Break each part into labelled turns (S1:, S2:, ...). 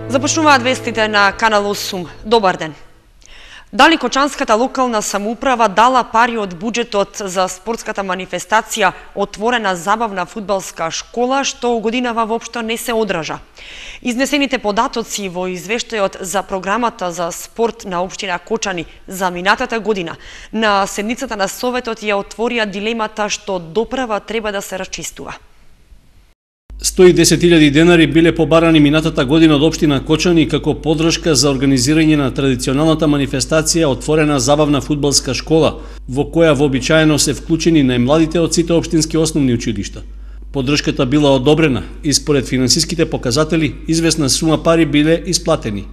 S1: Започнуваат вестите на Канал 8. Добар ден. Дали Кочанската локална самоуправа дала пари од буџетот за спортската манифестација отворена забавна фудбалска школа, што годинава воопшто не се одража? Изнесените податоци во извештајот за програмата за спорт на општина Кочани за минатата година на седницата на Советот ја отворија дилемата што доправа треба да се расчистува.
S2: 110.000 денари биле побарани минатата година од општина Кочани како поддршка за организирање на традиционалната манифестација отворена забавна фудбалска школа, во која вообичаено се вклучени најмладите од сите општински основни училишта. Поддршката била одобрена и според финансиските показатели известна сума пари биле исплатени.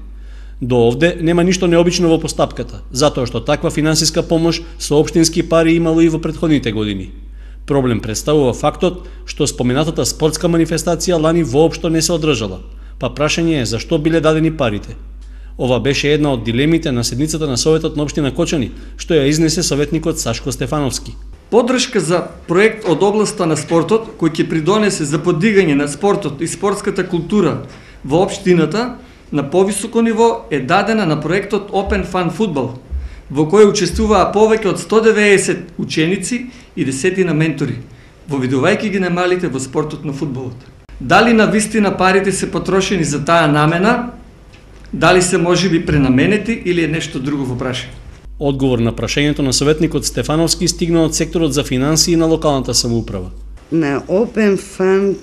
S2: До овде нема ништо необично во постапката, затоа што таква финансиска помош со општински пари имало и во претходните години. Проблем представува фактот што споменатата спортска манифестација лани воопшто не се одржала, па прашање е зашто биле дадени парите. Ова беше една од дилемите на седницата на Советот на општина Кочани, што ја изнесе советникот Сашко Стефановски.
S3: Поддршка за проект од областа на спортот, кој ќе придонесе за подигање на спортот и спортската култура во општината на повисоко ниво е дадена на проектот Open Fun Football, во кој учествуваа повеќе од 190 ученици и десетина ментори, вовидувајќи ги најмалите во спортот на фудбалот. Дали на вистина парите се потрошени за таа намена, дали се можеби пренаменети или е нешто друго во прашање?
S2: Одговор на прашањето на советникот Стефановски стигна од секторот за финансии на локалната самоуправа.
S4: На Open Fun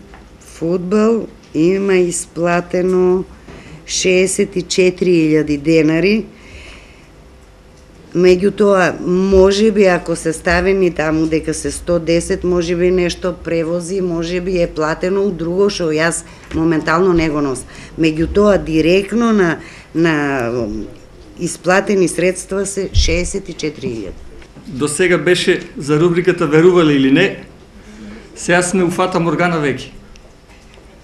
S4: Football има исплатено 64.000 денари. Меѓутоа, можеби ако се ставени таму дека се 110, можеби нешто превози, можеби е платено у друго што јас моментално не го носам. Меѓутоа, директно на исплатени средства се 64.000.
S3: До сега беше за рубриката верувале или не, сега сме у фата Моргана веќе.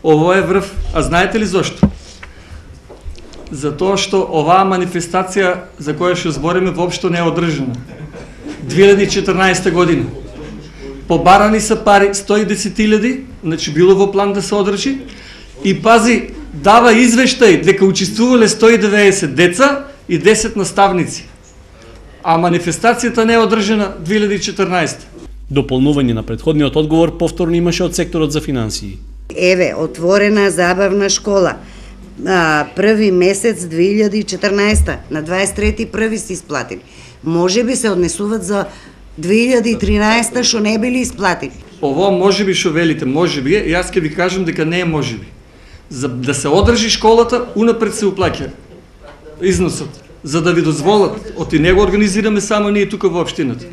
S3: Ово е врв, а знаете ли зошто? Затоа што оваа манифестација за која што збориме воопшто не е одржана. 2014 година. Побарани се пари 110.000, значи било во план да се одржи, и пази, дава извештај дека учествувале 190 деца и 10 наставници. А манифестацијата не е одржана 2014.
S2: Дополнување на претходниот одговор повторно имаше од секторот за финансии.
S4: Еве, отворена забавна школа. Први месец 2014, на 23.1 се исплатени. Може би се однесуваат за 2013 што не били исплатени.
S3: Ово можеби што велите, можеби е, јас ќе ви кажам дека не е можеби. За да се одржи школата, унапред се уплаќа износот, за да ви дозволат, оти него организираме само ние тука во општината.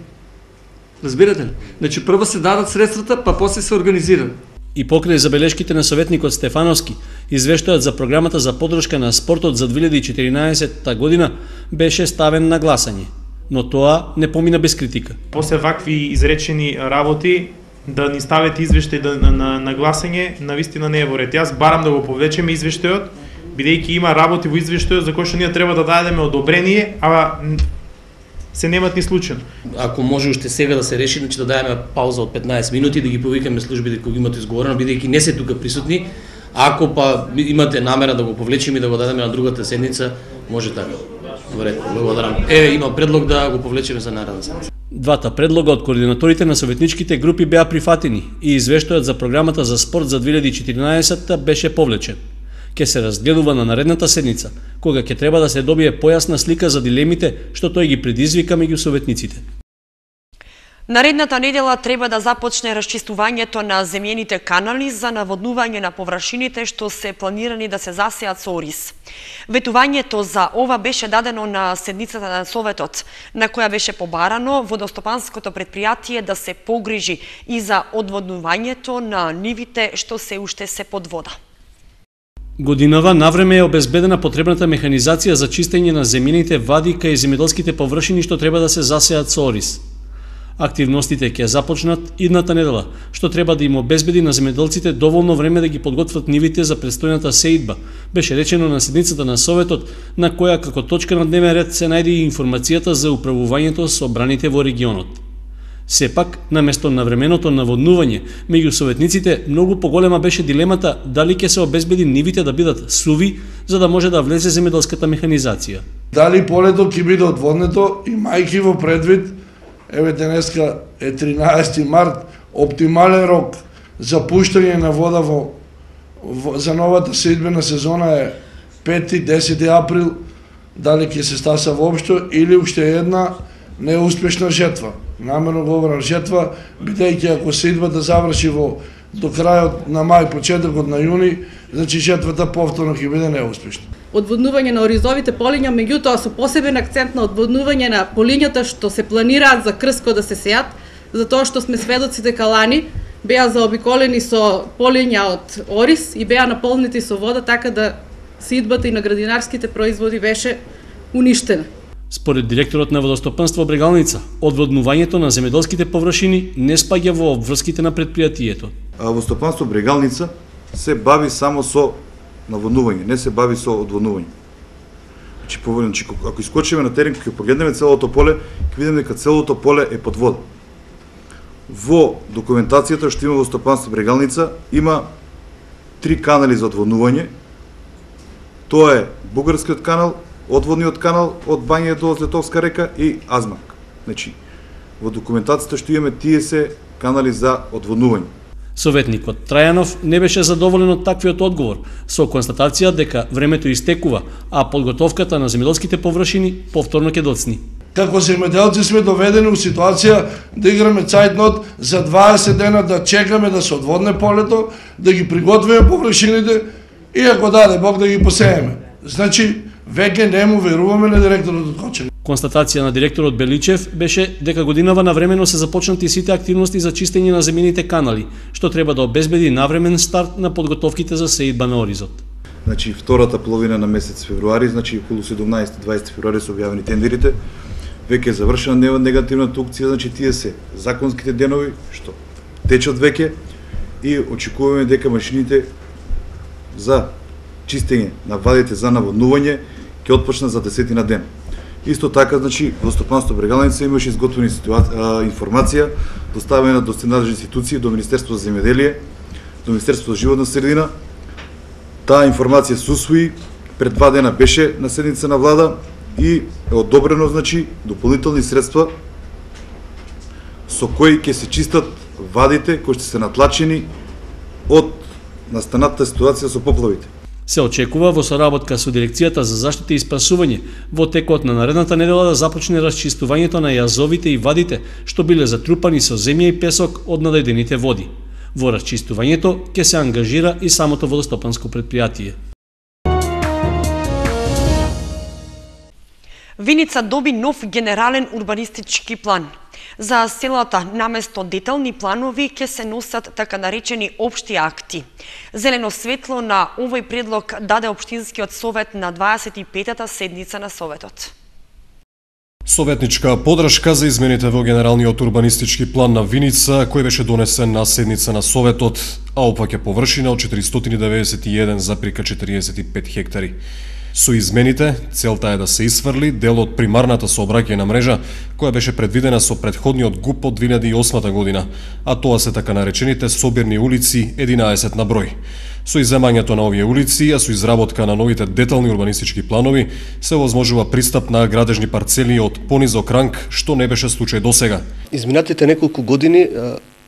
S3: Разбирате ли? Значи прво се дадат средствата, па после се организира.
S2: И покрај забелешките на советникот Стефановски, извештајот за програмата за поддршка на спортот за 2014 година беше ставен на гласање, но тоа не помина без критика.
S5: После вакви изречени работи да ни ставите извештај на гласање, навистина не е во ред. Јас барам да го повлечеме извештајот, бидејќи има работи во извештајот за кои што ние треба да дадеме одобрение, а се немат ни случајно.
S6: Ако може уште сега да се реши, значи да даеме пауза од 15 минути, да ги повикаме службите кои имат изговорено, бидејќи не се тука присутни. Ако па имате намера да го повлечеме и да го дадеме на другата седница, може така. Добре, благодарам. Има предлог да го повлечеме за наредна седница.
S2: Двата предлога од координаторите на советничките групи беа прифатени и извештајот за програмата за спорт за 2014 беше повлечен. Ке се разгледува на наредната седница, кога ќе треба да се добие појасна слика за дилемите што тој ги предизвика меѓу советниците.
S1: Наредната недела треба да започне расчистувањето на земјените канали за наводнување на површините што се планирани да се засеат со ориз. Ветувањето за ова беше дадено на седницата на Советот, на која беше побарано водостопанското предпријатие да се погрижи и за одводнувањето на нивите што се уште се под вода.
S2: Годинава навреме е обезбедена потребната механизација за чистење на земјините вади кај земјоделските површини што треба да се засеат со ориз. Активностите ќе започнат идната недела, што треба да им обезбеди на земјоделците доволно време да ги подготват нивите за предстојната сеидба, беше речено на седницата на Советот, на која како точка на дневен ред се најде и информацијата за управувањето со браните во регионот. Сепак, наместо навременото наводнување, меѓу советниците многу поголема беше дилемата дали ќе се обезбеди нивите да бидат суви за да може да влезе земјоделската механизација.
S7: Дали полето ќе биде одводнето, имајќи во предвид, еве денеска е 13 март, оптимален рок за пуштање на вода за новата сејдбена сезона е 5-10 април, дали ќе се стаса воопшто или уште една неуспешна жетва. Намерно говорам жетва, бидејќи ако сејдбата заврши до крајот на мај, почетокот на јуни, значи жетвата повторно ќе биде неуспешна.
S8: Одводнување на оризовите полиња, меѓутоа со посебен акцент на одводнување на полињата што се планираат за крско да се сеат, затоа што сме сведоци дека лани беа заобиколени со полиња од ориз и беа наполнети со вода, така да сејдбата и на градинарските производи беше уништена.
S2: Според директорот на водостопанство Брегалница, одводнувањето на земјоделските површини не спаѓа во обврските на предпријатието.
S9: Водостопанство Брегалница се бави само со наводнување, не се бави со одводнување. Значи, ако искочиме на терен, ќе погледнеме целото поле, ќе видиме дека целото поле е под вода. Во документацијата што има Водостопанство Брегалница има 3 канали за одводнување. Тоа е Бугарскиот канал, одводниот канал од Бања до Злетовска река и Азмак. Значи, во документацијата што имаме тие се канали за одводнување.
S2: Советникот Трајанов не беше задоволен од таквиот одговор, со констатација дека времето истекува, а подготовката на земјоделските површини повторно ќе доцни.
S7: Како земјоделци сме доведени у ситуација да играме цајтнот за 20 дена да чекаме да се одводне полето, да ги приготвиме површините и ако даде Бог да ги посееме. Значи, веќе не му веруваме на директорот од Кочани.
S2: Констатација на директорот Беличев беше дека годинава навремено се започнати сите активности за чистење на земјините канали, што треба да обезбеди навремен старт на подготовките за сејдба на оризот.
S9: Значи, втората половина на месец февруари, значи околу 17-20 февруари се објавени тендерите, веќе е завршена негативната аукција, значи тие се законските денови што течат веќе и очекуваме дека машините за чистење на вадите за наводнување ќе отпочнат за 10 ден. Исто така, значи, Водостопанство Брегалница имаше изготвена информација, доставена до надлежни институции, до Министерството за земјоделие, до Министерството за животна средина. Таа информација се усвои, пред 2 дена беше на седница на влада и е одобрено, значи, дополнителни средства со кои ќе се чистат вадите кои ще се натлачени од настанатата ситуација со поплавите.
S2: Се очекува во соработка со Дирекцијата за заштита и спасување во текот на наредната недела да започне расчистувањето на јазовите и вадите што биле затрупани со земја и песок од надајдените води. Во расчистувањето ќе се ангажира и самото водостопанско предпријатие.
S1: Виница доби нов генерален урбанистички план. За селата наместо детални планови ќе се носат така наречени општи акти. Зелено светло на овој предлог даде Општинскиот совет на 25-та седница на Советот.
S10: Советничка подршка за измените во генералниот урбанистички план на Виница, кој беше донесен на седница на Советот, а опфаќа површина од 491,45 хектари. Со измените, целта е да се исфрли дел од примарната сообраќајна мрежа, која беше предвидена со претходниот ГУП од 2008 година, а тоа се така наречените собирни улици 11 на број. Со изземањето на овие улици, а со изработка на новите детални урбанистички планови, се овозможува пристап на градежни парцели од понизок ранг, што не беше случај досега.
S11: Изминатите неколку години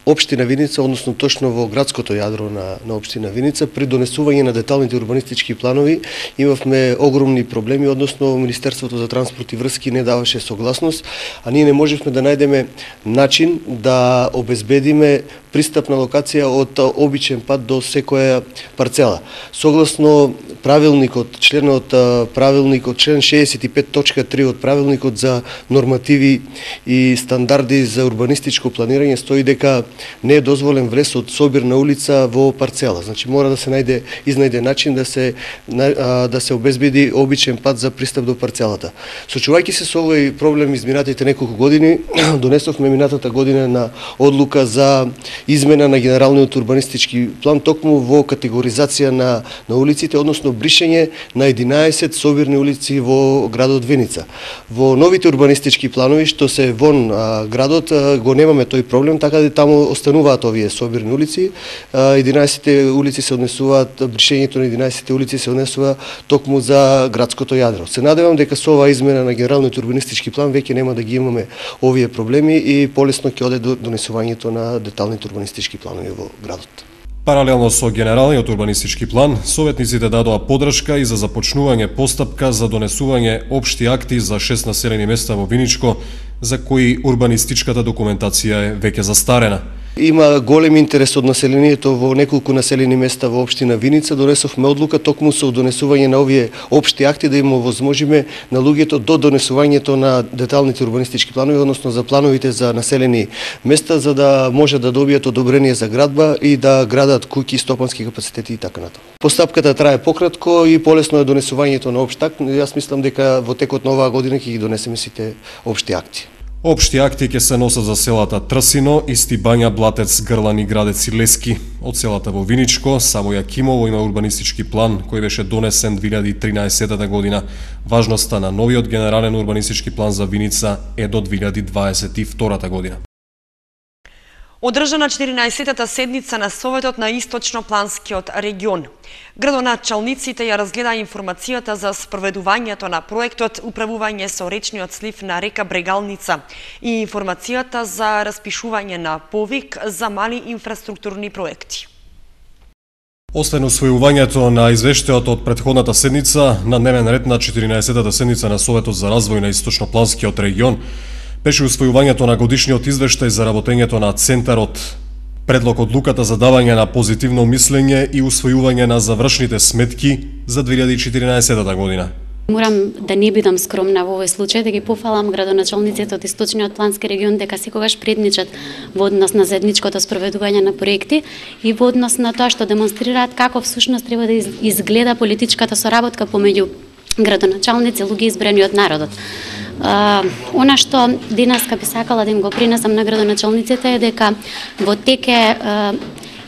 S11: Општина Виница, односно точно во градското јадро на Општина Виница, при донесување на деталните урбанистички планови имавме огромни проблеми, односно Министерството за транспорт и врски не даваше согласност, а ние не можевме да најдеме начин да обезбедиме пристапна локација од обичен пат до секоја парцела. Согласно правилникот, член 65.3 од правилникот за нормативи и стандарди за урбанистичко планирање стои дека не е дозволен влез од собирна улица во парцела. Значи мора да се изнајде начин да се обезбеди обичен пат за пристап до парцелата. Сочувајќи се со овој проблем изминатите неколку години, донесовме минатата година на одлука за измена на генералниот урбанистички план токму во категоризација на улиците, односно бришење на 11 собирни улици во градот Виница. Во новите урбанистички планови што се вон градот го немаме тој проблем, така да таму остануваат овие собирни улици. 11 улици се однесуваат, бришењето на 11 улици се однесува токму за градското јадро. Се надевам дека со оваа измена на генералниот урбанистички план веќе нема да ги имаме овие проблеми и полесно ќе оде до донесувањето на деталните урбанистички планови во градот.
S10: Паралелно со генералниот урбанистички план, советниците дадоа поддршка и за започнување постапка за донесување општи акти за 6 населени места во Виничко, за кои урбанистичката документација е веќе застарена.
S11: Има голем интерес од населението во неколку населени места во општина Виница. Донесовме одлука токму со донесување на овие општи акти да им овозможиме на луѓето до донесувањето на деталните урбанистички планови, односно за плановите за населени места, за да може да добијат одобрение за градба и да градат куќи, стопански капацитети и така натаму. Постапката трае пократко и полесно е донесувањето на општ акт. Јас мислам дека во текот на оваа година ќе ги донесеме сите општи акти.
S10: Општи акти ќе се носат за селата Трсино, Истибања, Блатец, Грлани, Градец и Лески. Од селата во Виничко, само Јакимово има урбанистички план кој беше донесен 2013 година. Важноста на новиот генерален урбанистички план за Виница е до 2022 година.
S1: Одржана 14-та седница на Советот на Источнопланскиот регион. Градоначалниците ја разгледа информацијата за спроведувањето на проектот Управување со речниот слив на река Брегалница и информацијата за распишување на повик за мали инфраструктурни проекти.
S10: Освен усвојувањето на извештајот од претходната седница, на дневен ред на 14-та седница на Советот за развој на Источнопланскиот регион беше усвојувањето на годишниот извештај за работењето на Центарот, предлог одлуката за давање на позитивно мислење и усвојување на завршните сметки за 2014 година.
S12: Морам да не бидам скромна во овој случај, да ги пофалам градоначалниците од Источниот плански регион дека секогаш предничат во однос на заедничкото спроведување на проекти и во однос на тоа што демонстрираат како всушност треба да изгледа политичката соработка помеѓу градоначалници, луѓе избрани од народот. Она што денеска би сакала да им го принесам на градоначалниците е дека во тек е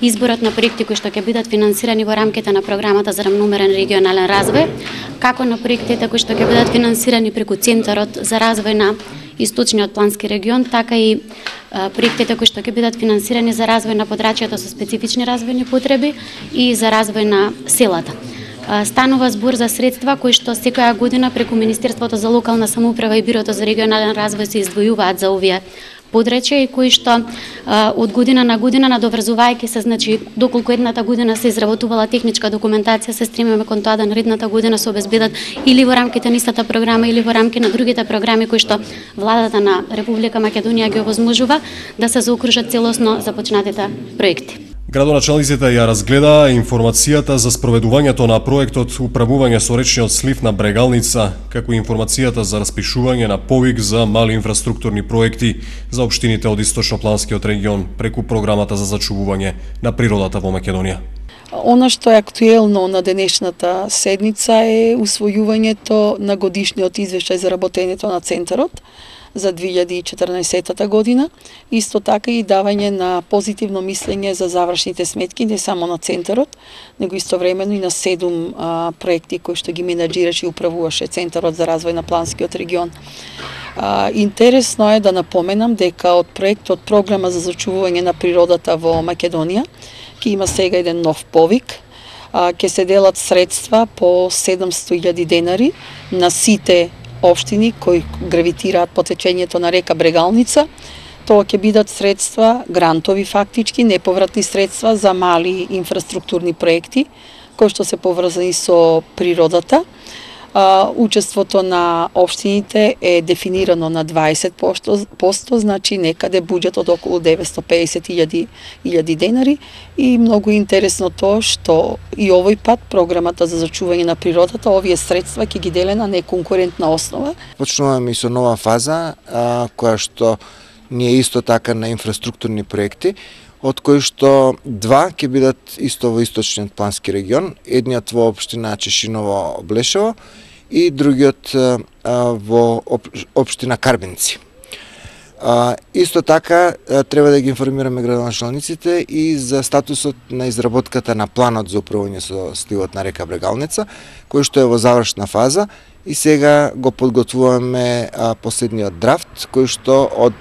S12: изборот на проекти кои што ќе бидат финансирани во рамките на програмата за рамномерен регионален развој, како на проектите кои што ќе бидат финансирани преку Центарот за развој на Источниот плански регион, така и проектите кои што ќе бидат финансирани за развој на подрачјата со специфични развојни потреби и за развој на селата. Станува збор за средства кои што секоја година преку Министерството за локална самоуправа и Бирото за регионален развој се издвојуваат за овие подрачја и кои што од година на година надоврзувајќи се, значи доколку едната година се изработувала техничка документација, се стремиме кон тоа да наредната година се обезбедат или во рамките на истата програма или во рамки на другите програми кои што владата на Република Македонија ги овозможува да се заокружат целосно започнатите проекти.
S10: Градоначалниците ја разгледаа информацијата за спроведувањето на проектот Управување со речниот слив на Брегалница, како и информацијата за распишување на повик за мали инфраструктурни проекти за општините од Источнопланскиот регион преку програмата за зачувување на природата во Македонија.
S13: Она што е актуелно на денешната седница е усвојувањето на годишниот извештај за работењето на Центарот за 2014 година, исто така и давање на позитивно мислење за завршните сметки не само на Центарот, него истовремено и на 7 проекти кои што ги менаџираше и управуваше Центарот за развој на Планскиот регион. Интересно е да напоменам дека од проектот Програма за зачувување на природата во Македонија ќе има сега еден нов повик, ќе се делат средства по 700.000 денари на сите општини кои гравитираат по течењето на река Брегалница. Тоа ќе бидат средства, грантови фактички, неповратни средства за мали инфраструктурни проекти кои што се поврзани со природата. Учеството на општините е дефинирано на 20%, значи некаде буџет од околу 950.000 денари и многу интересно тоа што и овој пат програмата за зачување на природата, овие средства ќе ги деле на неконкурентна основа.
S14: Почнуваме и со нова фаза која што ние исто така на инфраструктурни проекти, од кои што два ќе бидат исто во источниот плански регион, едниот во општина Чешиново Блешево и другиот во општина Карбинци. Исто така треба да ги информираме градоначалниците и за статусот на изработката на планот за управување со сливот на река Брегалница, кој што е во завршна фаза и сега го подготвуваме последниот драфт, кој што од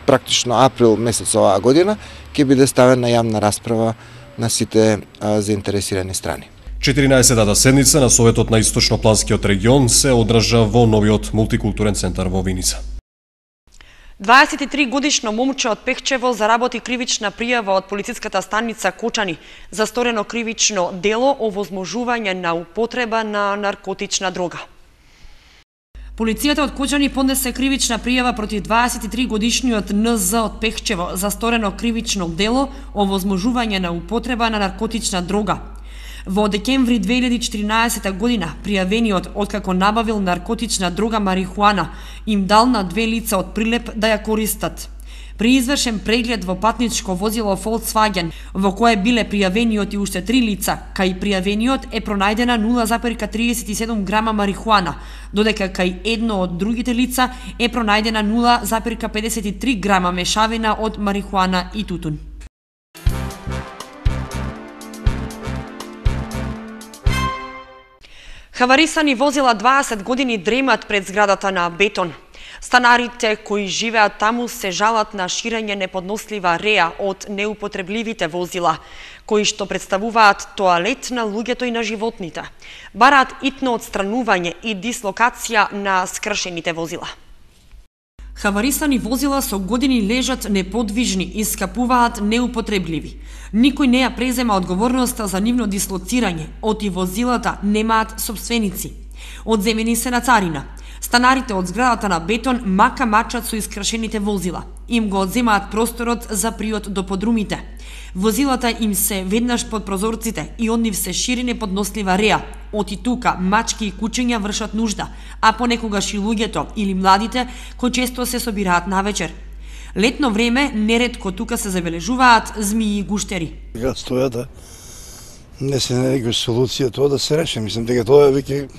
S14: практично април месец оваа година ќе биде ставен на јавна расправа на сите заинтересирани страни.
S10: 14-та седница на Советот на Источнопланскиот регион се одржа во новиот мултикултурен центар во Виница.
S1: 23 годишно момче од Пехчево заработи кривична пријава од полициската станица Кочани за сторено кривично дело овозможување на употреба на наркотична дрога. Полицијата од Кочани поднесе кривична пријава против 23 годишниот НЗ од Пехчево за сторено кривично дело овозможување на употреба на наркотична дрога. Во декември 2014 година пријавениот откако набавил наркотична дрога марихуана им дал на две лица од Прилеп да ја користат. При извршен преглед во патничко возило Volkswagen, во кое биле пријавениот и уште 3 лица, кај пријавениот е пронајдена 0,37 грама марихуана, додека кај едно од другите лица е пронајдена 0,53 грама мешавина од марихуана и тутун. Хаварисани возила 20 години дремат пред зградата на Бетон. Станарите кои живеат таму се жалат на ширење неподнослива реа од неупотребливите возила, кои што представуваат тоалет на луѓето и на животните. Бараат итно отстранување и дислокација на скршените возила. Хаварисани возила со години лежат неподвижни и скапуваат неупотребливи. Никој не ја презема одговорноста за нивно дислоцирање, оти возилата немаат собственици. Одземени се на царина. Станарите од зградата на Бетон мака мачат со искршените возила. Им го одземаат просторот за приот до подрумите. Возилата им се веднаш под прозорците и од нив се шири неподнослива реа. Оти тука мачки и кучиња вршат нужда, а понекогаш и луѓето или младите кои често се собираат навечер. Летно време неретко тука се забележуваат змии и гуштери.
S15: Сега стојата не се најде солуција тоа да се реше. Мислам дека тоа е веќе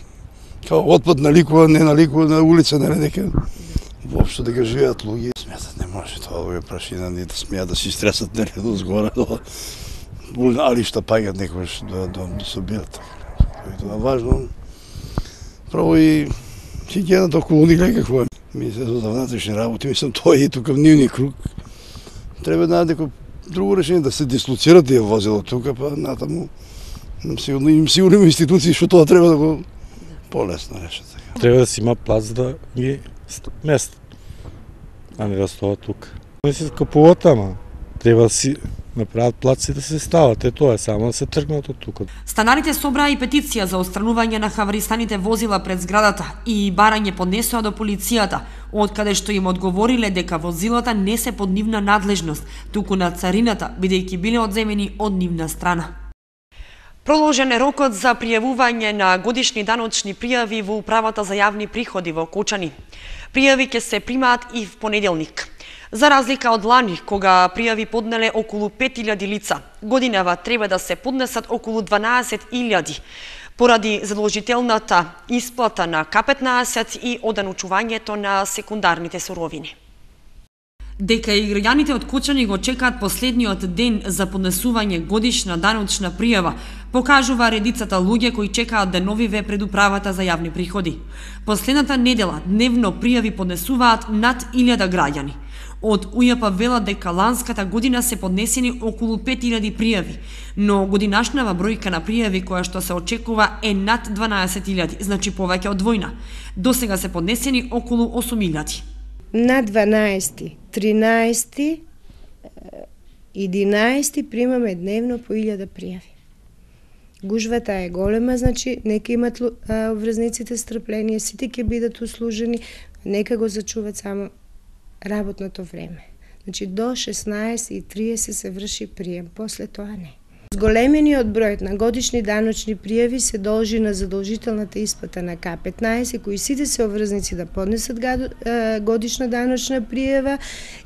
S15: као отпад наликува, не наликува на улица, не дека воопшто дека живеат луѓе. Смятат не може тоа луѓе прашина ни да смеат да се истресат неледо згора, али што паѓат некојаш да собијат. Тоа е важно. Право и хигиената околу них некаква. Министерството за внатрешни работи, мислам, тоа е и тука в нивни круг. Треба да најде некој друго решение да се дислоцират тие возила тука, па натаму сигурно има институции што тоа треба да го полесно решат.
S16: Треба да си има плац да ги местат, а не да стоат тука. Не се купуваат тама. Треба да си направат плац и да се стават. Тоа е само да се тргнат од тука.
S1: Станарите собраа и петиција за отстранување на хаваристаните возила пред зградата и барање поднесоа до полицијата, од каде што им одговориле дека возилата не се под нивна надлежност, туку на царината, бидејќи биле одземени од нивна страна. Продолжен е рокот за пријавување на годишни даночни пријави во Управата за јавни приходи во Кочани. Пријави ќе се примаат и в понеделник. За разлика од лани, кога пријави поднеле околу 5000 лица, годинава треба да се поднесат околу 12.000, поради задолжителната исплата на К15 и оданочувањето на секундарните суровини. Дека и граѓаните од Кочани го чекаат последниот ден за поднесување годишна даночна пријава, покажува редицата луѓе кои чекаат деновиве пред Управата за јавни приходи. Последната недела дневно пријави поднесуваат над 1000 граѓани. Од УЈП велат дека ланската година се поднесени околу 5000 пријави, но годинашнава бројка на пријави која што се очекува е над 12.000, значи повеќе од двојна. Досега се поднесени околу 8000.
S17: На 12, 13, 11 примаме дневно по 1000 пријави. Гужвата е голема, значи нека имат врзниците стрпление, сите ќе бидат услужени, нека го зачуват само работното време. Значи до 16:30 се врши прием, после тоа не. Зголемениот број на годишни даночни пријави се должи на задолжителната исплата на К15, кои сите се обврзници да поднесат годишна даночна пријава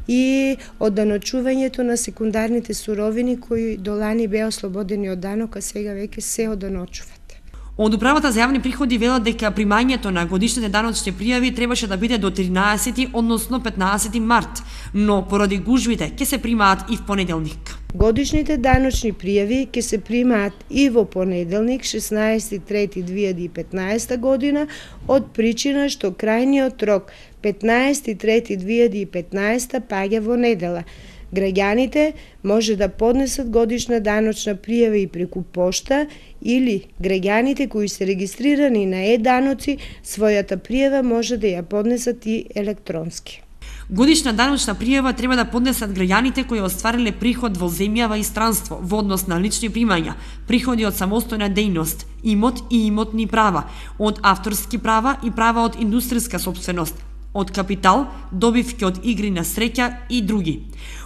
S17: и оданочувањето на секундарните суровини кои долани беа ослободени од данок, а сега веќе се оданочуваат.
S1: Од Управата за јавни приходи велат дека примањето на годишните даночни пријави требаше да биде до 13, односно 15 март, но поради гужвите ќе се примаат и в понеделник.
S17: Годишните даночни пријави ќе се примаат и во понеделник, 16.3.2015 година, од причина што крајниот рок 15.3.2015 паѓа во недела. Граѓаните може да поднесат годишна даночна пријава и преку пошта или граѓаните кои се регистрирани на е-даноци, својата пријава може да ја поднесат и електронски.
S1: Годишна даночна пријава треба да поднесат граѓаните кои оствариле приход во земја и странство во однос на лични примања, приходи од самостојна дејност, имот и имотни права, од авторски права и права од индустријска сопственост, од капитал, добивки од игри на среќа и други.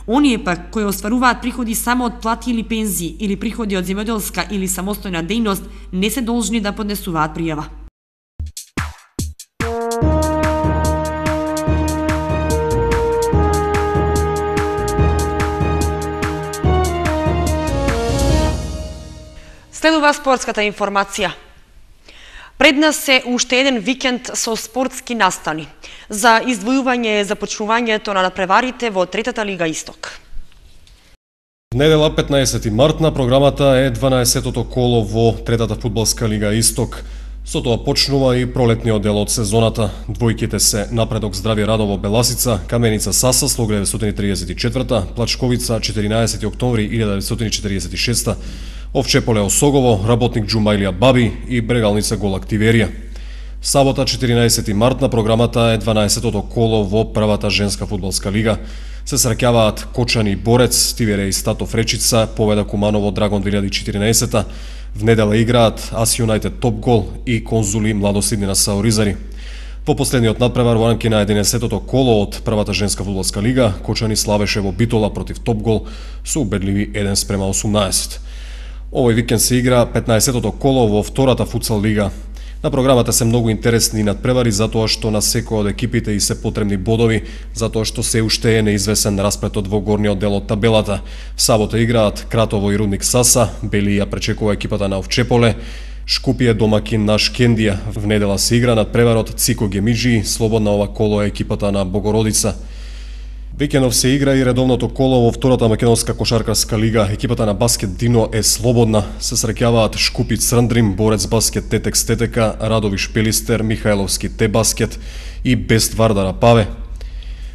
S1: Оние пак кои остваруваат приходи само од плати или пензии или приходи од земјоделска или самостојна дејност не се должни да поднесуваат пријава. Следува спортската информација. Пред нас е уште еден викенд со спортски настани. За издвојување е започнувањето на надпреварите во Третата лига Исток.
S10: Недела 15 март на програмата е 12-тото коло во Третата фудбалска лига Исток. Со тоа почнува и пролетниот дел од сезоната. Двојките се Напредок Здравје Радово Беласица, Каменица Саса Слог 1934, Плачковица 14 октомври 1946, Овчеполе Осогово, Работник Џумаилија Баби и Брегалница Гол Активерија. Сабота 14 март на програмата е 12-тото коло во Првата женска фудбалска лига. Се сраќаваат Кочани Борец, Тивере и Статов Речица, Победа Куманово Драгон 2014. В недела играат Ас Юнајтед Топ Гол и Конзули Младосиднина Саоризари. По последниот надпревар во рамки на 11-тото коло од Првата женска фудбалска лига, Кочани славеше во битола против Топ Гол со убедливи 1:18. Овој викенд се игра 15-тото коло во Втората футсал лига. На програмата се многу интересни надпревари затоа што на секој од екипите и се потребни бодови, затоа што се уште е неизвесен распретот во горниот дел од табелата. В сабота играат Кратово и Рудник Саса, Белија пречекува екипата на Овчеполе, Шкупје домакин на Шкендија. В недела се игра надпреварот Цико Гемиджи, слободна ова коло е екипата на Богородица. Викендов се игра и редовното коло во Втората македонска кошаркарска лига. Екипата на Баскет Дино е слободна. Се сраќаваат Шкупиц Црндрим, Борец Баскет Тетекс Тетека, Радовиш Пелистер, Михајловски Те Баскет и Бест Вардара Паве.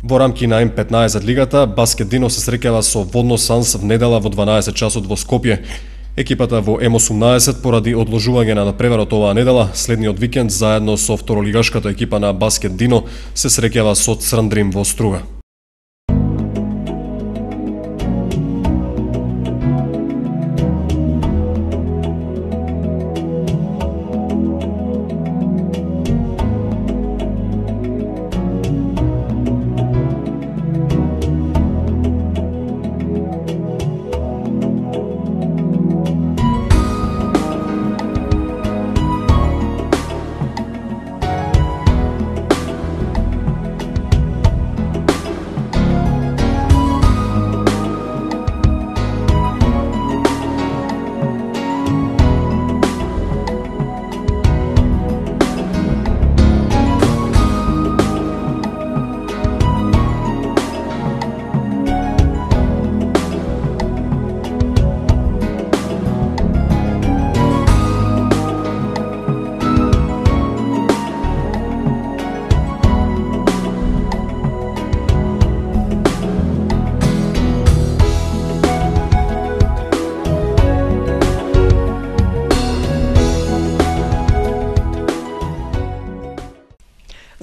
S10: Во рамки на М15 лигата, Баскет Дино се среќава со Водно Санс в недела во 12 часот во Скопје. Екипата во М18 поради одложување на надпреварот оваа недела, следниот викенд заедно со второлигашката екипа на Баскет Дино се среќава со Црндрим во Струга.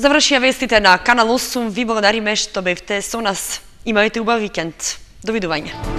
S1: Завршија вестите на Канал 8. Ви благодариме што бевте со нас. Имајте убав викенд. Довидување.